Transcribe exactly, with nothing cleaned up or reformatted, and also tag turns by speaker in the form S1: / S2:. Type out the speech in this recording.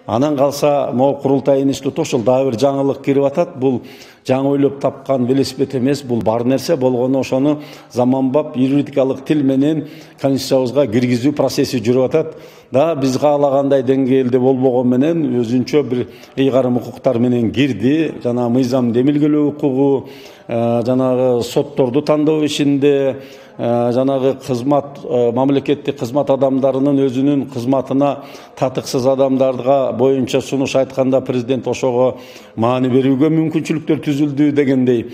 S1: Анан калса могу курултай институту ошол дагы бир жаңылык кирип атат. Бул жаңы ойлоп тапкан велосипед эмес, бул бар нерсе болгону ошону заманбап юридикалык тил менен конституциябызга киргизүү процесси жүрүп атат. Да биз каалагандай деңгээлде болбогон менен өзүнчө бир ыйгарым укуктар менен кирди. Жана мыйзамды эмилгелөө укугу, жанагы сотторду тандоо ишинде, жанагы кызмат мамлекеттик кызмат адамдарынын өзүнүн кызматына татыксыз адамдарга боюнча сунуш айтканда президент ошого маани берүүгө мүмкүнчүлүктөр түзүлдү дегендей.